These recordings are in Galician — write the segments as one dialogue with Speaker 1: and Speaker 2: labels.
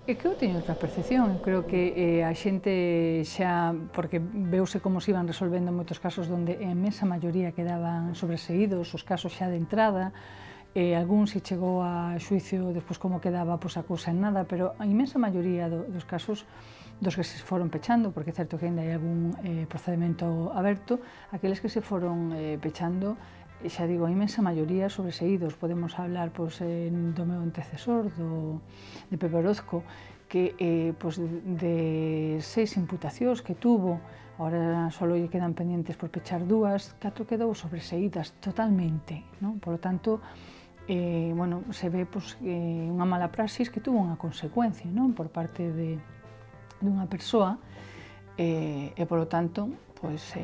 Speaker 1: É que eu teño outra percepción, eu creo que a xente xa, porque veuse como se iban resolvendo moitos casos onde a imensa maioría quedaban sobreseídos, os casos xa de entrada, algún se chegou a xuicio despois como quedaba pois, a cousa en nada, pero a imensa maioría dos casos dos que se foron pechando, porque é certo que ainda hai algún procedimento aberto, aqueles que se foron pechando, xa digo, a imensa maioría sobreseídos. Podemos hablar pois, do meu antecesor, de Pepe Orozco, que pois, de 6 imputacións que tuvo, agora só lle quedan pendientes por pechar 2, 4 quedou sobreseídas totalmente, non? Por lo tanto, bueno, se ve pois, unha mala praxis que tuvo unha consecuencia, non? Por parte dunha persoa, e, polo tanto, pois,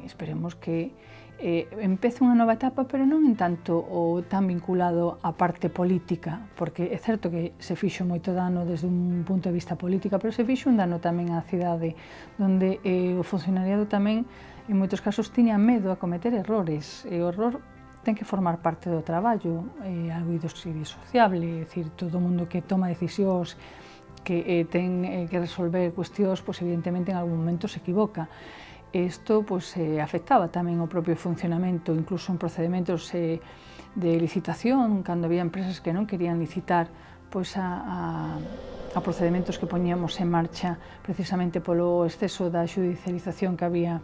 Speaker 1: esperemos que empece unha nova etapa, pero non en tanto o tan vinculado á parte política, porque é certo que se fixo moito dano desde un punto de vista política, pero se fixo un dano tamén á cidade, donde o funcionariado tamén, en moitos casos, tiña medo a cometer errores, e o error ten que formar parte do traballo, algo indisociable, é dicir, todo o mundo que toma decisións, que ten que resolver cuestións, pois evidentemente en algún momento se equivoca. Isto pois, afectaba tamén o propio funcionamento, incluso en procedementos de licitación, cando había empresas que non querían licitar pois, a procedementos que poñíamos en marcha precisamente polo exceso da xudicialización que había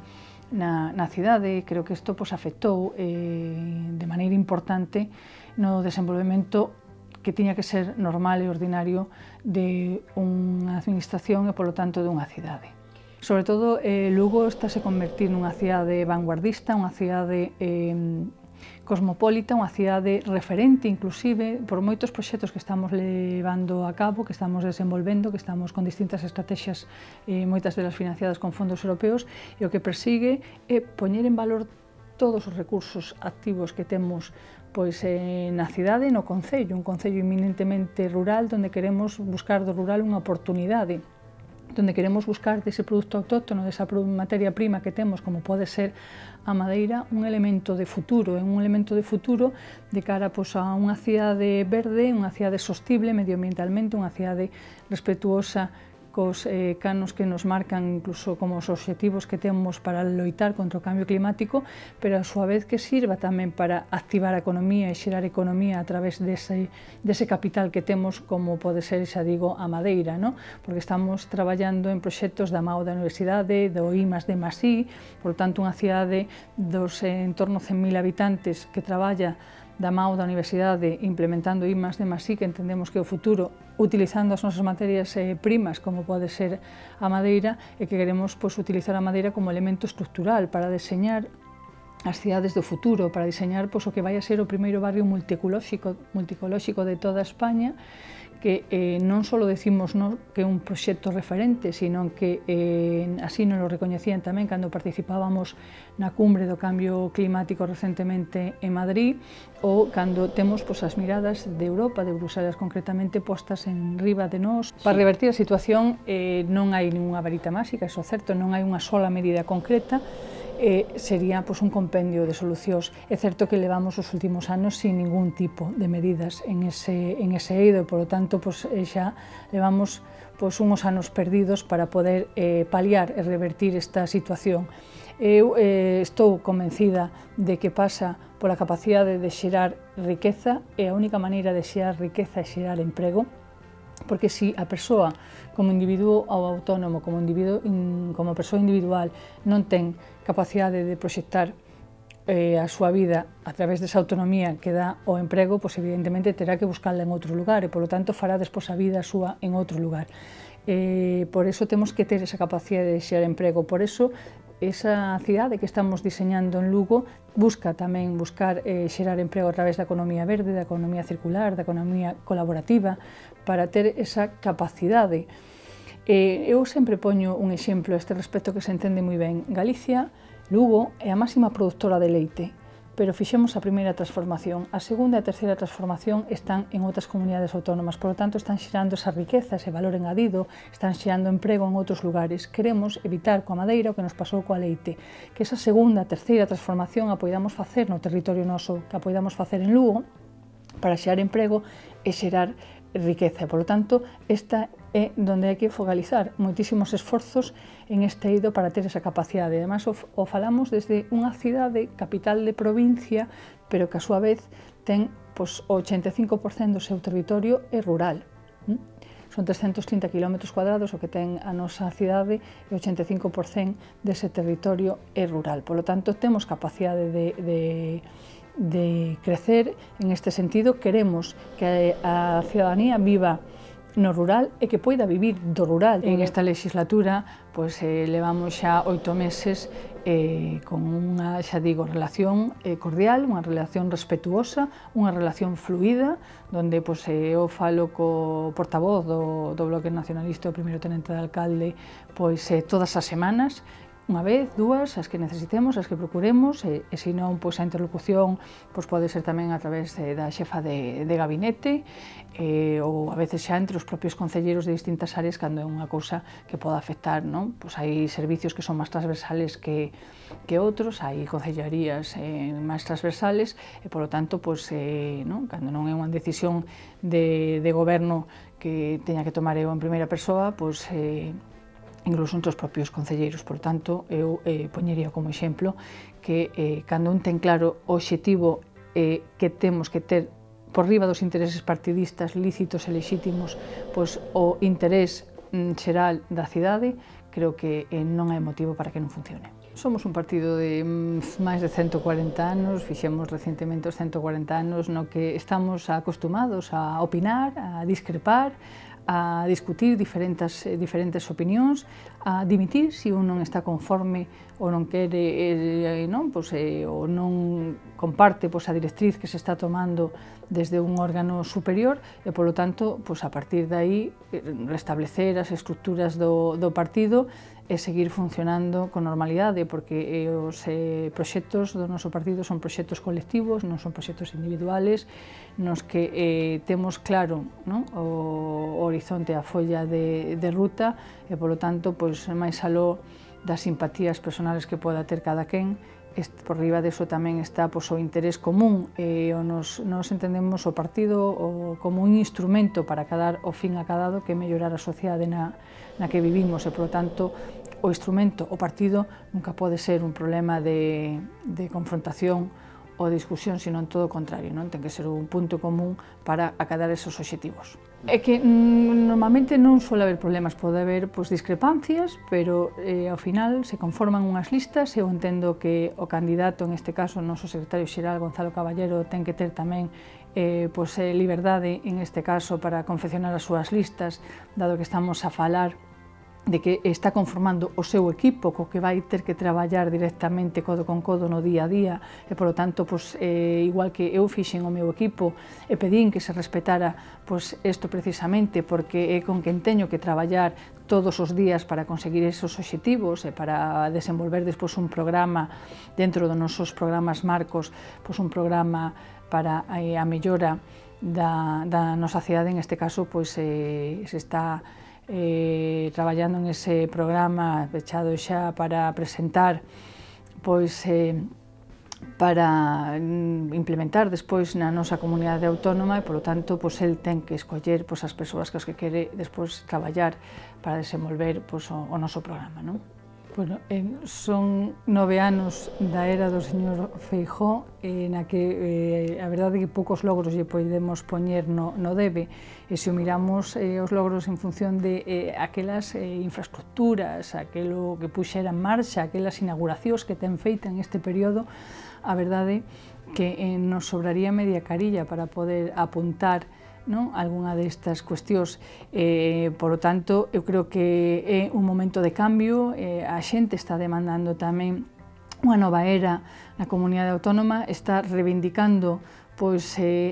Speaker 1: na cidade. Creo que isto pois, afectou de maneira importante no desenvolvemento que tiña que ser normal e ordinario de unha administración e, polo tanto, dunha cidade. Sobre todo, Lugo estáse a convertir nunha cidade vanguardista, unha cidade cosmopolita, unha cidade referente, inclusive, por moitos proxectos que estamos levando a cabo, que estamos desenvolvendo, que estamos con distintas estrategias, moitas delas financiadas con fondos europeos, e o que persigue é poñer en valor todos os recursos activos que temos pois, na cidade e no concello, un concello eminentemente rural, onde queremos buscar do rural unha oportunidade, onde queremos buscar dese produto autóctono, desa materia prima que temos, como pode ser a madeira, un elemento de futuro, un elemento de futuro de cara pois, a unha cidade verde, unha cidade sostible medioambientalmente, unha cidade respetuosa cos canos que nos marcan incluso como os obxectivos que temos para loitar contra o cambio climático, pero a súa vez que sirva tamén para activar a economía e xerar economía a través dese capital que temos, como pode ser, xa digo, a madeira, non? Porque estamos traballando en proxectos da MAO da Universidade, do I+D+I, por tanto, unha cidade dos en torno a 100.000 habitantes que traballa da MAO da Universidade implementando I+D+I, que entendemos que é o futuro, utilizando as nosas materias primas, como pode ser a madeira, e que queremos pois, utilizar a madeira como elemento estructural para deseñar as cidades do futuro, para diseñar pois, o que vai a ser o primeiro barrio multicolóxico de toda España, que non só decimos que é un proxecto referente, sino que así nos lo recoñecían tamén cando participábamos na cumbre do cambio climático recentemente en Madrid, ou cando temos as miradas de Europa, de Bruselas concretamente, postas en riba de nós. Para revertir a situación non hai ninguna varita máxica, iso é certo, non hai unha sola medida concreta, sería un compendio de solucións. É certo que levamos os últimos anos sin ningún tipo de medidas en ese eido, e, polo tanto, xa levamos uns anos perdidos para poder paliar e revertir esta situación. Eu estou convencida de que pasa pola capacidade de xerar riqueza, e a única maneira de xerar riqueza é xerar emprego, porque se a persoa como individuo ou autónomo, como persoa individual, non ten capacidade de proxectar a súa vida a través desa autonomía que dá o emprego, pois evidentemente terá que buscarla en outro lugar e, polo tanto, fará despois a vida súa en outro lugar. Por eso temos que ter esa capacidade de xerar emprego, por eso esa cidade que estamos diseñando en Lugo busca tamén xerar emprego a través da economía verde, da economía circular, da economía colaborativa, para ter esa capacidade. Eu sempre poño un exemplo a este respecto que se entende moi ben. Galicia, Lugo, é a máxima produtora de leite, pero fixemos a primeira transformación. A segunda e a terceira transformación están en outras comunidades autónomas, por lo tanto están xerando esa riqueza, ese valor engadido, están xerando emprego en outros lugares. Queremos evitar coa madeira o que nos pasou coa leite, que esa segunda e terceira transformación a poidamos facer no territorio noso, que a poidamos facer en Lugo, para xerar emprego e xerar riqueza. Por lo tanto, esta é onde hai que focalizar moitísimos esforzos en este eido para ter esa capacidade. Ademais, o falamos desde unha cidade capital de provincia, pero que a súa vez ten o 85% do seu territorio é rural. Son 330 km cuadrados o que ten a nosa cidade e o 85% dese territorio é rural. Por lo tanto, temos capacidade de crecer en este sentido. Queremos que a cidadanía viva no rural e que poida vivir do rural. En esta legislatura levamos xa 8 meses con unha, xa digo, relación cordial, unha relación respetuosa, unha relación fluida, onde eu falo co portavoz do Bloque Nacionalista, o primeiro tenente de alcalde, todas as semanas, unha vez, dúas, as que necesitemos, as que procuremos, e se non, a interlocución pode ser tamén a través da xefa de gabinete, ou a veces xa entre os propios concelleiros de distintas áreas cando é unha cousa que poda afectar, non? Hai servicios que son máis transversales que outros, hai concellarías máis transversales, e polo tanto, cando non é unha decisión de goberno que teña que tomar eu en primeira persoa, incluso entre os propios concelleiros. Por tanto, eu poñería como exemplo que cando un ten claro o obxectivo que temos que ter por riba dos intereses partidistas lícitos e lexítimos, o interés xeral da cidade, creo que non hai motivo para que non funcione. Somos un partido de máis de 140 anos, fixemos recentemente os 140 anos, no que estamos acostumados a opinar, a discrepar, a discutir diferentes opinións, a dimitir se un non está conforme ou non quere, ou non comparte a directriz que se está tomando desde un órgano superior, e, polo tanto, a partir de aí, restablecer as estructuras do partido e seguir funcionando con normalidade, porque os proxectos do noso partido son proxectos colectivos, non son proxectos individuales, nos que temos claro o horizonte, a folla de ruta, e, polo tanto, máis aló das simpatías personales que poda ter cada quen, por riba deso tamén está o interés común, e nos entendemos o partido como un instrumento para dar o fin acadado, que é mellorar a sociedade na que vivimos, e, polo tanto, o instrumento, o partido, nunca pode ser un problema de confrontación ou discusión, sino en todo o contrario, ten que ser un punto común para acadar esos obxectivos. É que normalmente non suele haber problemas, pode haber discrepancias, pero ao final se conforman unhas listas, e eu entendo que o candidato, en este caso o noso secretario xeral Gonzalo Caballero, ten que ter tamén liberdade, en este caso, para confeccionar as súas listas, dado que estamos a falar de que está conformando o seu equipo, co que vai ter que traballar directamente codo con codo no día a día, e, polo tanto, igual que eu fixen o meu equipo e pedín que se respetara isto precisamente, porque é con quen teño que traballar todos os días para conseguir esos obxectivos e para desenvolver despois un programa dentro dos nosos programas marcos, un programa para a mellora da nosa cidade. En este caso, se está traballando en ese programa pechado xa para presentar, para implementar despois na nosa comunidade autónoma, e, polo tanto, el ten que escoller as persoas que quere despois traballar para desenvolver o noso programa. Son 9 anos da era do señor Feijóo, na que a verdade é que poucos logros lle podemos poñer no debe, e se o miramos os logros en función de aquelas infraestructuras, aquelo que puxera en marcha, aquelas inauguracións que ten feita en este período, a verdade que nos sobraría media carilla para poder apuntar algunha destas cuestións. Por lo tanto, eu creo que é un momento de cambio, a xente está demandando tamén unha nova era na comunidade autónoma, está reivindicando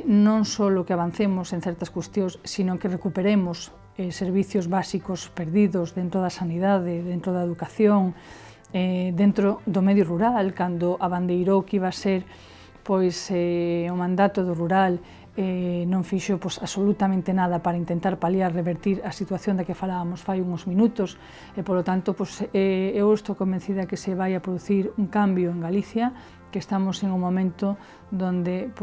Speaker 1: non só que avancemos en certas cuestións, sino que recuperemos servicios básicos perdidos dentro da sanidade, dentro da educación, dentro do medio rural, cando abandeirou que iba a ser o mandato do rural, non fixo absolutamente nada para intentar paliar, revertir a situación da que falábamos fai uns minutos, e, polo tanto, eu estou convencida que se vai a producir un cambio en Galicia, que estamos en un momento donde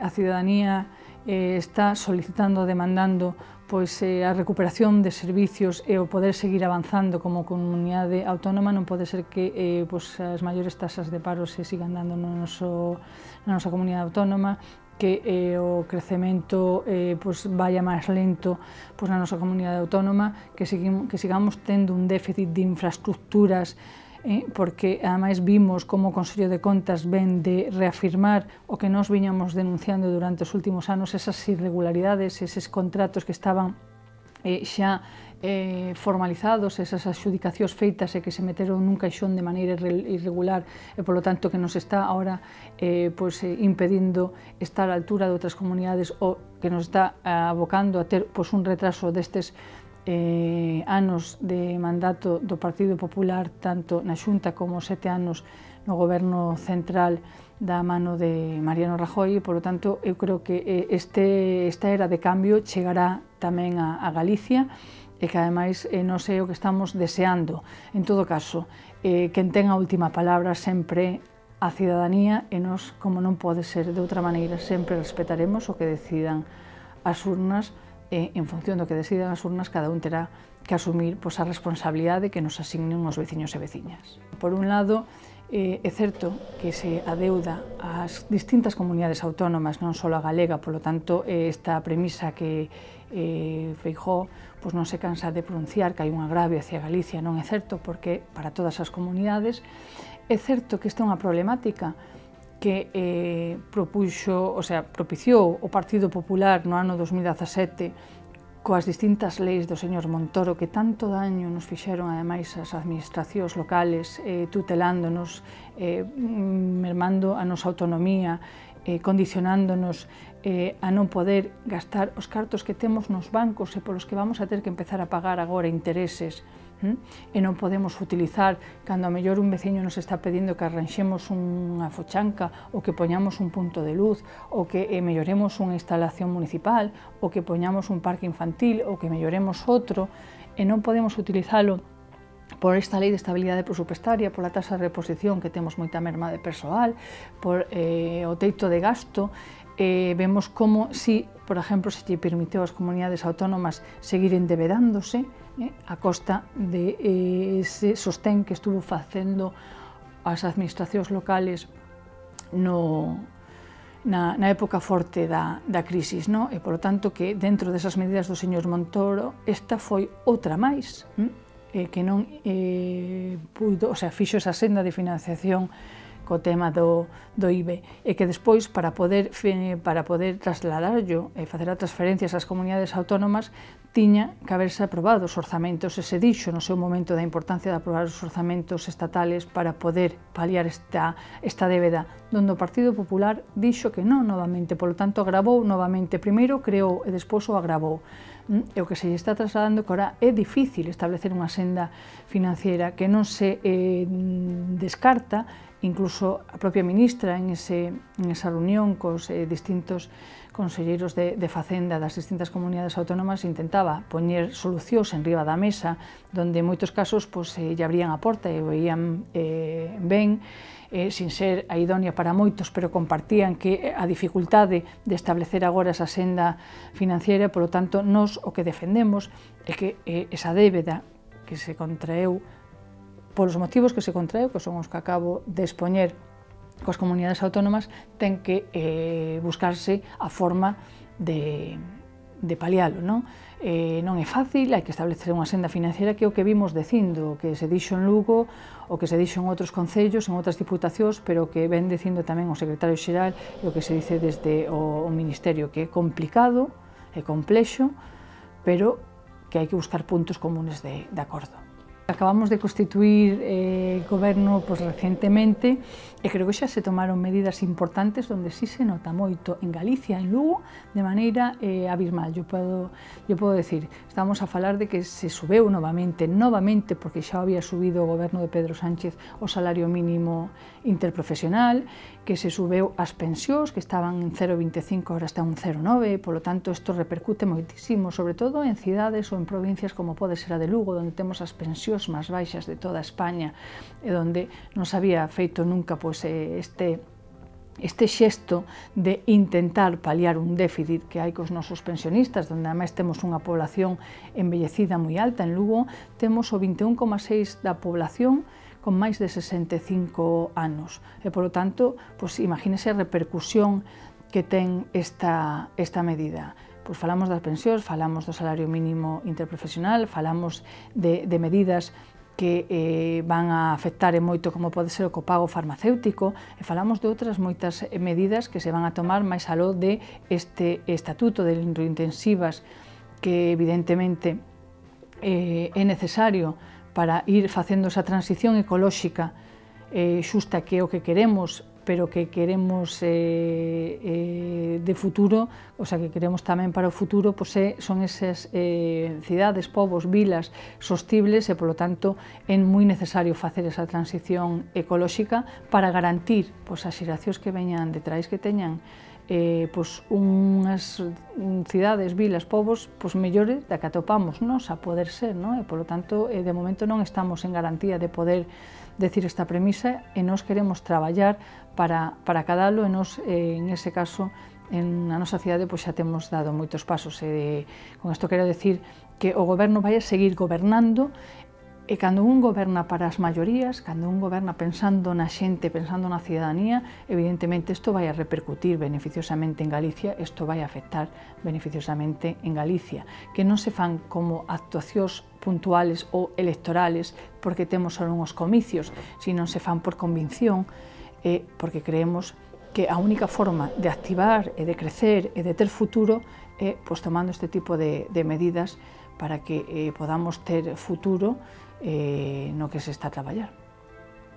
Speaker 1: a cidadanía está solicitando, demandando a recuperación de servicios e o poder seguir avanzando como comunidade autónoma. Non pode ser que as maiores tasas de paro se sigan dando na nosa comunidade autónoma, que o crecemento vaya máis lento na nosa comunidade autónoma, que sigamos tendo un déficit de infraestructuras, porque ademais vimos como o Consello de Contas ven de reafirmar o que nós viñamos denunciando durante os últimos anos, esas irregularidades, eses contratos que estaban xa formalizados, esas adxudicacións feitas e que se meteron nun caixón de maneira irregular e, polo tanto, que nos está ahora impedindo estar á altura de outras comunidades ou que nos está abocando a ter un retraso destes anos de mandato do Partido Popular, tanto na Xunta como 7 anos no Goberno central da mano de Mariano Rajoy. Polo tanto, eu creo que esta era de cambio chegará tamén a Galicia e que ademais non sei o que estamos deseando. En todo caso, quen ten a última palabra sempre a cidadanía e nós, como non pode ser de outra maneira, sempre respetaremos o que decidan as urnas. En función do que decidan as urnas, cada un terá que asumir a responsabilidade que nos asignen os veciños e veciñas. Por un lado, é certo que se adeuda ás distintas comunidades autónomas, non só a galega, polo tanto, esta premisa que Feijóo non se cansa de pronunciar, que hai un agravio hacia Galicia, non é certo, porque para todas as comunidades é certo que esta é unha problemática que propiciou o Partido Popular no ano 2017 coas distintas leis do señor Montoro, que tanto daño nos fixeron ademais as administracións locales, tutelándonos, mermando a nosa autonomía, condicionándonos a non poder gastar os cartos que temos nos bancos e polos que vamos a ter que empezar a pagar agora intereses, e non podemos utilizar cando a mellor un veciño nos está pedindo que arranxemos unha fochanca ou que poñamos un punto de luz ou que melloremos unha instalación municipal ou que poñamos un parque infantil ou que melloremos outro, e non podemos utilizalo por esta lei de estabilidade presupuestaria, pola tasa de reposición que temos moita merma de persoal, por o teito de gasto. Vemos como por exemplo, se lle permiteu ás comunidades autónomas seguir endebedándose a costa de ese sostén que estuvo facendo as administracións locales na época forte da crisis, e, polo tanto, que dentro desas medidas do señor Montoro, esta foi outra máis, que non fixo esa senda de financiación co tema do IBE, e que despois, para poder trasladarlo e facer as transferencias ás comunidades autónomas, tiña que haberse aprobado os orzamentos, e se dixo no seu momento da importancia de aprobar os orzamentos estatales para poder paliar esta débeda, donde o Partido Popular dixo que non novamente, polo tanto agravou novamente, primeiro creou e despois o agravou. E o que se lle está trasladando que ahora é difícil establecer unha senda financiera que non se descarta. Incluso a propia ministra en esa reunión cos distintos conselleiros de Facenda das distintas comunidades autónomas intentaba poñer solucións en riba da mesa, donde en moitos casos lle abrían a porta e o veían ben, sin ser a idónea para moitos, pero compartían que a dificultade de establecer agora esa senda financiera. Polo tanto, nós o que defendemos é que esa débeda que se contraeu polos motivos que se contraeu, que son os que acabo de expoñer coas comunidades autónomas, ten que buscarse a forma de palialo. Non é fácil, hai que establecer unha senda financiera, que é o que vimos dicindo, o que se dixo en Lugo, o que se dixo en outros concellos, en outras diputacións, pero que ven dicindo tamén o secretario xeral e o que se dice desde o Ministerio, que é complicado, é complexo, pero que hai que buscar puntos comunes de acordo. Acabamos de constituir goberno recentemente e creo que xa se tomaron medidas importantes onde sí se nota moito en Galicia, en Lugo, de maneira abismal. Eu podo decir, estamos a falar de que se subeu novamente, porque xa había subido o goberno de Pedro Sánchez o salario mínimo interprofesional, que se subeu as pensións, que estaban en 0,25, agora está en 0,9, polo tanto, isto repercute moitísimo, sobre todo en cidades ou en provincias como pode ser a de Lugo, onde temos as pensións máis baixas de toda España e onde non se había feito nunca este este xesto de intentar paliar un déficit que hai cos nosos pensionistas, onde ademais temos unha población envellecida moi alta. En Lugo temos o 21,6% da población con máis de 65 anos. E, polo tanto, imagínese a repercusión que ten esta medida. Falamos das pensións, falamos do salario mínimo interprofesional, falamos de medidas que van a afectar moito como pode ser o copago farmacéutico, e falamos de outras moitas medidas que se van a tomar máis aló de este estatuto de electrointensivas que evidentemente é necesario para ir facendo esa transición ecolóxica xusta que é o que queremos, pero que queremos de futuro, o sea, que queremos tamén para o futuro, son esas cidades, povos, vilas sostibles, e, polo tanto, é moi necesario facer esa transición ecolóxica para garantir as xeracións que veñan detrás que teñan unhas cidades, vilas, povos mellores da que atopamos nos a poder ser, e, polo tanto, de momento non estamos en garantía de poder decir esta premisa, e nós queremos traballar para acadalo, e nós, en ese caso, na nosa cidade xa temos dado moitos pasos. Con isto quero decir que o goberno vai a seguir gobernando, e cando un goberna para as maiorías, cando un goberna pensando na xente, pensando na cidadanía, evidentemente isto vai a repercutir beneficiosamente en Galicia, isto vai a afectar beneficiosamente en Galicia, que non se fan como actuacións puntuales ou electorales porque temos só uns comicios, sino se fan por convicción, porque creemos que a única forma de activar e de crecer e de ter futuro é tomando este tipo de medidas para que podamos ter futuro no que se está a traballar.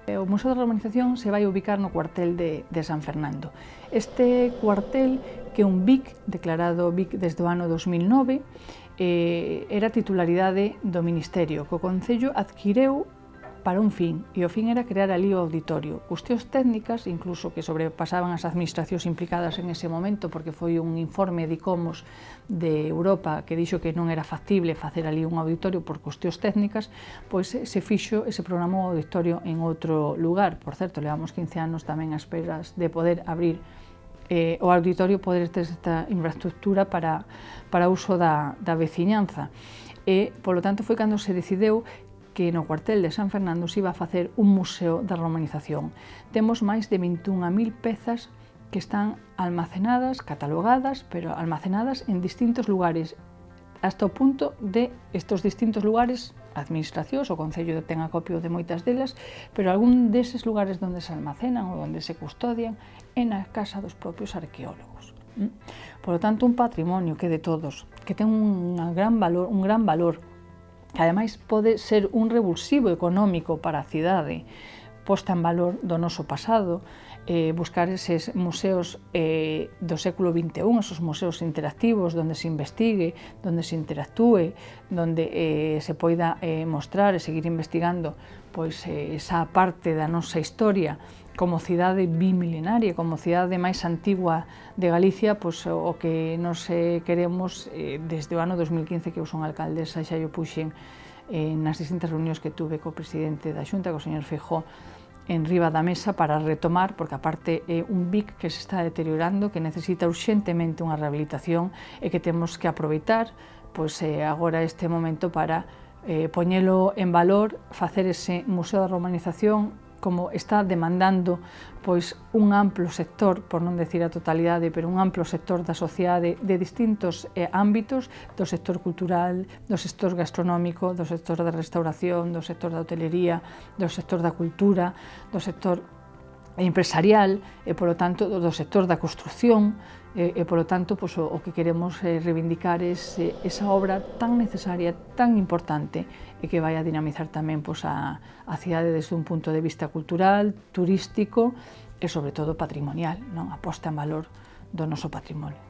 Speaker 1: O Museo da Romanización se vai ubicar no cuartel de San Fernando. Este cuartel, que é un BIC, declarado BIC desde o ano 2009, era titularidade do Ministerio, que o Concello adquireu para un fin, e o fin era crear ali o auditorio. Cuestións técnicas, incluso que sobrepasaban as administracións implicadas en ese momento, porque foi un informe de ICOMOS de Europa que dixo que non era factible facer ali un auditorio por cuestións técnicas, se fixo e se programou o auditorio en outro lugar. Por certo, levamos 15 anos tamén a esperas de poder abrir o auditorio, poder ter esta infraestructura para uso da veciñanza. E, polo tanto, foi cando se decideu que no cuartel de San Fernando se iba a facer un museo da romanización. Temos máis de 21.000 pezas que están almacenadas, catalogadas, pero almacenadas en distintos lugares, hasta o punto de estos distintos lugares, administracións, o Concello ten acopio de moitas delas, pero algún deses lugares onde se almacenan ou onde se custodian é na casa dos propios arqueólogos. Por lo tanto, un patrimonio que é de todos, que ten un gran valor, que ademais pode ser un revulsivo económico para a cidade, posta en valor do noso pasado, buscar eses museos do século XXI, esos museos interactivos, onde se investigue, onde se interactúe, onde se poida mostrar e seguir investigando esa parte da nosa historia como cidade bimilenaria, como cidade máis antigua de Galicia, o que nos queremos desde o ano 2015 que eu son alcaldesa, xa yo puxen nas distintas reunións que tuve co presidente da Xunta, co señor Feijóo, en riba da mesa para retomar, porque aparte é un BIC que se está deteriorando, que necesita urxentemente unha rehabilitación e que temos que aproveitar agora este momento para poñelo en valor, facer ese Museo da Romanización como está demandando un amplo sector, por non decir a totalidade, pero un amplo sector da sociedade de distintos ámbitos, do sector cultural, do sector gastronómico, do sector da restauración, do sector da hotelería, do sector da cultura, do sector empresarial e, polo tanto, do sector da construción e, polo tanto, o que queremos reivindicar é esa obra tan necesaria, tan importante e que vai a dinamizar tamén a cidade desde un punto de vista cultural, turístico e, sobre todo, patrimonial, a posta en valor do noso patrimonio.